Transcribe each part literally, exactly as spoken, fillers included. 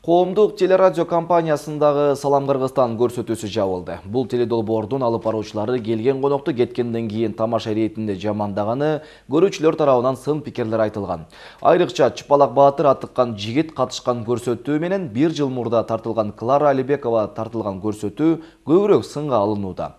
Коомдук телерадио компаниясындагы Салам Кыргызстан көрсөтүүсү жабылды. Бул теледолбоордун алып баруучулары келген конокту кеткенден кийин тамаша иретинде жамандаганы көрүүчүлөр тарабынан сын пикирлер айтылган. Айрыкча Чыпалак Баатыр атыккан жигит катышкан көрсөтүү менен бир жыл мурда тартылган Клара Алибекова тартылган көрсөтүү көбүрөөк сынга алынууда.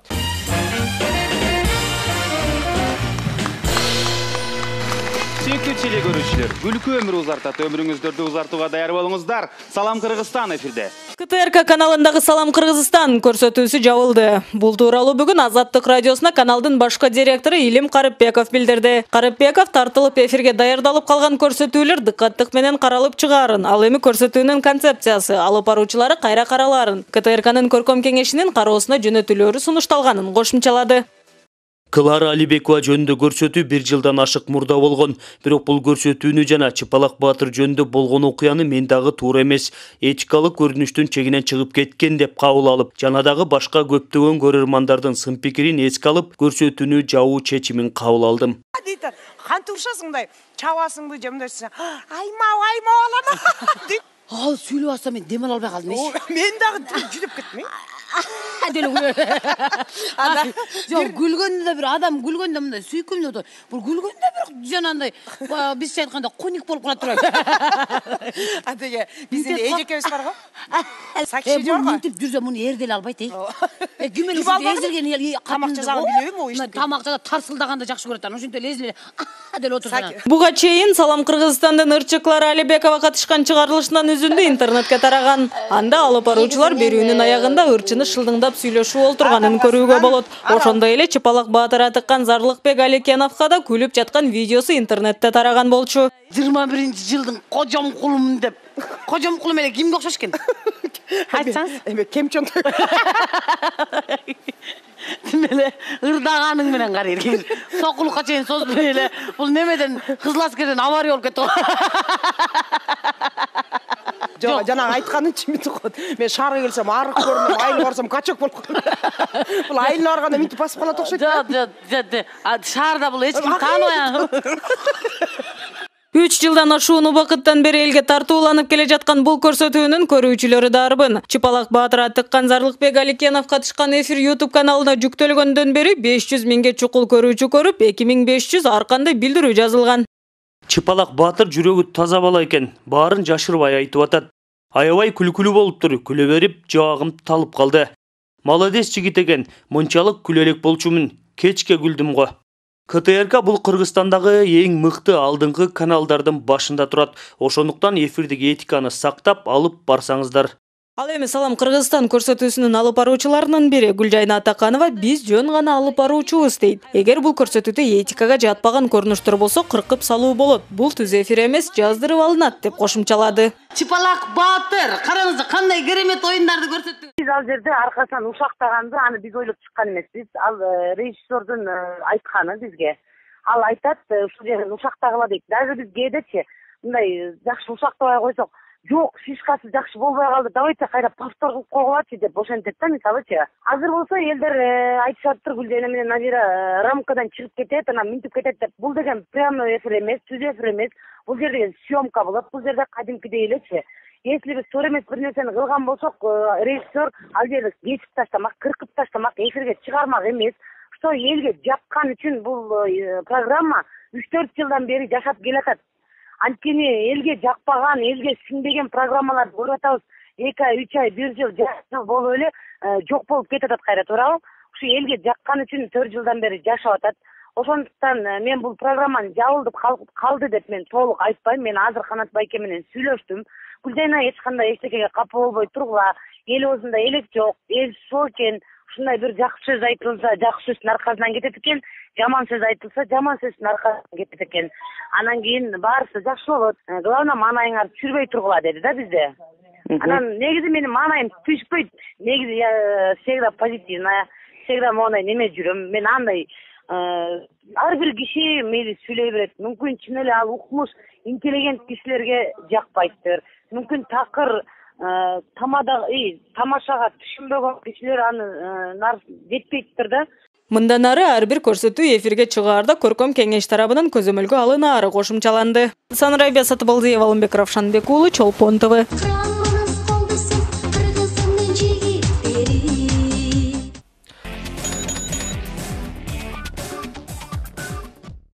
Сүйүктүү теле көрүүчүлөр, күлкү өмүр узартат, өмүрүңүздөрдү узартууга даяр болуңуздар. Салам Кыргызстан эфирде. К Т Р К каналындагы Салам Кыргызстан көрсөтүүсү жабылды. Бул тууралуу бүгүн Азаттык радиосуна каналдын башкы директору Илим Карыпбеков билдирди. Карыпбеков тартылып эфирге даярдалып калган көрсөтүүлөр дыкаттык менен каралып чыгаарын, ал эми көрсөтүүнүн концепциясы, алып баруучулары кайра каралаарын, К Т Р К'нын көркөм кеңешинин кароосуна жөнөтүлөрү сунушталганын кошумчалады. Клара Алибекова жөнүндө көрсөтүү бир жылдан ашык мурда болгон. Бирок бул көрсөтүүнү жана Чыпалак Баатыр жөнүндө болгон окуяны мен дагы туура эмес, этикалык көрүнүштүн чегинен чыгып кеткен деп кабыл алып, жана дагы башка көптөгөн көрөрмандардын сын пикирин эске алып, көрсөтүүнү жабуу чечимин кабыл алдым. Кантип урушасың мындай, чабасыңбы же мындай аймап аймап алам деп. Ал сүйлөп атса мен дем ала албай калдым. Мен дагы жүдөп кеттим. Жок, күлгөндө бир адам күлгөндө мындай сүйкүмдүү отур. Бул күлгөндө бир жанагындай бизче айтканда коник болуп калат турат. А деге биздин эжекебиз бар го. Сакчи жок. Мынтип жүрсө муну эрдел албайт, эй. Э, ким эле эзилген тамак жасаган билебизби о ишти? Тамак жасап тарсылдаганды жакшы көрөт. Ошентип эле эзиле деле отурсун. Буга чейин Салам Кыргызстандын ырчы Клара Алибекова катышкан чыгарылышынан үзүндү интернетке тараган. Анда алып баруучулар берүүнүн аягында ырчыны шылдыңдап сүйлөшүп олтурганын көрүүгө болот. Ошондой эле Чыпалак Баатыр атыккан Зарлыкбек Аликеновго да күлүп жаткан видеосу интернетте тараган болчу. жыйырма биринчи жылдын кожом кулум деп. Кожом кулум эле кимге окшош экен? Айтсаңыз? Эме кемчон. Эле ырдаганың менен кара эрген. Сокулукка чейин созбой эле бул немеден кызыл аскерден авария болуп кетти. Жок, жана айтканын чимит кот. Мен шаарга келсем арык көрүнөм, айыл барсам качок болуп калам. Бул айылына барганда мынтип басып калат окшойт. Жок, жок, жок. Шаарда бул эч ким тааныбайан. Үч жылдан ашуун убакыттан бери элге тартууланып келе жаткан бул көрсөтүүнүн көрүүчүлөрү дарбын. Чыпалак Баатыр атыккан Зарлыкбек Аликенов катышкан эфир YouTube каналына жүктөлгөндөн бери беш жүз миңге чукул көрүүчү көрүп, эки миң беш жүз ар кандай билдирүү жазылган. Чыпалак Баатыр жүрөгү таза бала экен, баарын жашырбай айтып атат. Аябай күлкүлүү болуптур, күлө берип жабагым талып калды. Молодец жигит экен, мынчалык күлө элек болчумун, кечке күлдүм го. К Т Р К бул Кыргызстандагы эң мыкты алдыңкы каналдардын башында турат. Ошондуктан эфирдеги этиканы сактап алып барсаңыздар. Ал эми Салам Кыргызстан көрсөтүүсүнүн алып баруучуларынын бири Гүлжайна Атаканова биз жөн гана алып баруучубуз дейт. Эгер бул көрсөтүүдө этикага жатпаган көрүнүштөр болсо кыркып салуу болот. Бул түз эфир эмес, жаздырып алынат деп кошумчалады. Чыпалак Баатыр, караңыз кандай керемет оюндарды көрсөттү. Биз ал жерде аркасынан ушактаганды аны биз ойлоп чыккан эмеспиз. Ал режиссердун айтканы бизге. Ал айтат, ушул жерден ушактагыла дейт. Даже биз кээдечи мындай жакшы ушактабай койсок, жок, фишкасы жакшы болбой калды, давайте кайра повтор кылып койгулачы деп ошентет да, мисалычы. Азыр болсо элдер айтышаптыр, Гүлжайна менен Назира рамкадан чыгып кетет, анан минтип кетет деп. Бул деген прямой эфир эмес, түз эфир эмес. Бул жерде съемка болот, бул жерде кадимкидей элечи. Если биз туура эмес бир нерсени кылган болсок, режиссер ал жерди кесип таштамак, кыркып таштамак, эфирге чыгармак эмес. Что элге жаккан үчүн бул программа үч төрт жылдан бери жашап келатат. Анткени элге жакпаган, элге сиңбеген программаларды көрүп атабыз. эки ай, үч ай, бир жыл, жарым жыл болуп эле жок болуп кетип атат кайра, туурабы? Ушу элге жаккан үчүн төрт жылдан бери жашап атат. Ошондуктан мен бул программаны жабылып калды деп мен толук айтпайм. Мен азыр Канат байке менен сүйлөштүм. Гүлжайна эч кандай эчтекеге капа болбой тургула. Эл өзүндө элек жок, эл сол экен. Ушундай бир жакшы сөз айтылса, жакшы сөздүн аркасынан кетет экен. Жаман сөз айтылса, жаман сөздүн аркасынан кетет экен. Анан кийин баарысы жакшы болот. Главное, маанайыңар түшүрбөй тургула деди да бизде. Анан негизи менин маанайым түшпөйт. Негизи я всегда позитивная, всегда моундай неме жүрөм. Мен андай ар бир киши мейли сүйлөй берет. Мүмкүн чын эле ал укмуш, интеллигент кишилерге жакпайттыр. Мүмкүн такыр тамада тамашага түшүнбөгөн кишилер аны жетпейттир да. Мындан ары ар бир көрсөтүү эфирге чыгаарда көркөм кеңеш тарабынан көзөмөлгө алынаары кошумчаланды. Санрайбия Сатыбалдиева, Алымбек Равшанбек уулу, Чолпон Т В.